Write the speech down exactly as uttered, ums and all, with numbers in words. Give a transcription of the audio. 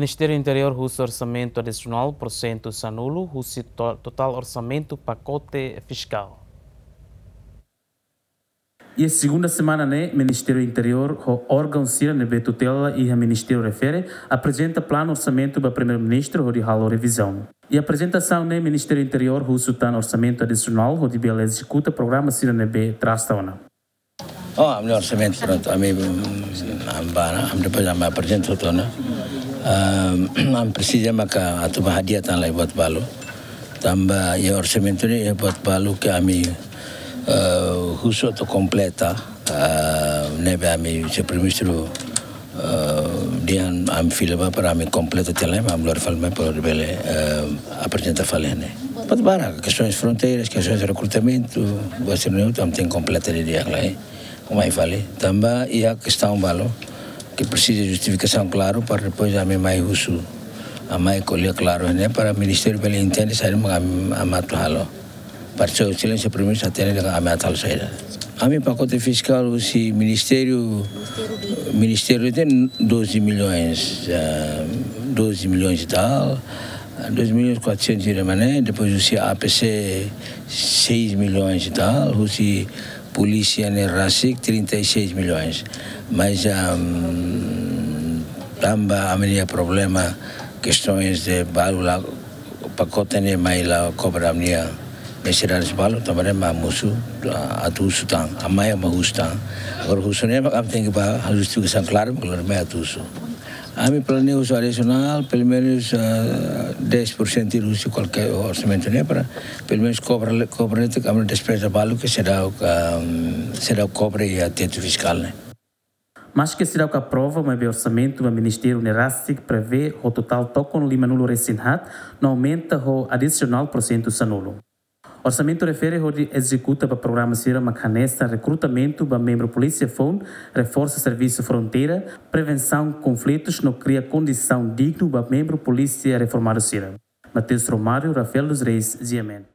Ministériu Interiór husu orsamentu adisionál porsentu sanulu husi to-, totál orsamentu pakote fiskál. Iha segunda semana ne'e, Ministériu Interiór ho órgaun sira ne'ebé tutela iha ministériu refere aprezenta planu orsamentu ba Primeiru-Ministru hodi halo revizaun. Iha aprezentasaun ne'e, Ministériu Interiór husu tan orsamentu adisionál hodi bele ezekuta programa sira ne'ebé atrasa ona. Oh, ami orsamentu prontu, ami, mm, ami ba ona, ami depois ami aprezenta hotu ona. Ah, ami presiza maka atu ba hadi'a tan lai buat balu. Tanba iha orsamentu ne'e iha buat balu ke ami, eh, husu atu kompleta, eh, ne'ebé ami, señór Primeiru-Ministru, eh, dehan ami fila ba para ami kompleta tiha lai, ami lori fali mai para bele, eh, aprezenta fali ne'e. Buat barak, kestaun fronteiras, kestaun rekrutamentu, buat sira-ne'e hotu ami tenke kompleta didi'ak lai. Mai fali, tanba iha kestaun balu ke presiza justifikasaun klaru para depois ami mai husu, ami mai ko'alia klaru ne'e para ministériu bele entende saida mak ami, ami atu halo. Para señór Exelénsia Primeiru-Ministru hatene dehan ami atu halo saida. Ami pakote fiskál husi ministériu, ministériu iha doze milhões, ah, doze milhões e tal, doze milhões quatrocentos de mané, depois husi A P C seis milhões e tal, husi polísia ne'e rasik trinta e seis milhões. Mas, ahm, tanba ami-nia problema, kestaun de balu la, pakote ne'e mai la kobre ami-nia nesesidade balu, tanba ne'e ami husu, ah, atu husu tan, ami mai husu tan. Agora husu ne'e, ami tenke ba justifikasaun klaru, mak lori mai atu husu. Ami planeia husu adisionál, pelumenus, ah, dez por cento husi kualkér orsamentu ne'e para, pelumenus kobre, kobre netik ami despeza balu ke seidauk, ah, seidauk kobre iha tetu fiskál ne'e. Maske seidauk aprova, maibé orsamentu ba ministériu ne'e rasik prevee ho totál tokon limanulu resin haat, no aumenta ho adisionál porsentu sanulu. Orsamentu refere hodi ezekuta ba programa sira mak hanesan rekrutamentu ba membru polísia foun, reforsa servisu fronteira, prevensaun konflitus no kria kondisaun dignu ba membru polísia reformadu sira. Mateus Romário, Rafael dos Reis, G M N.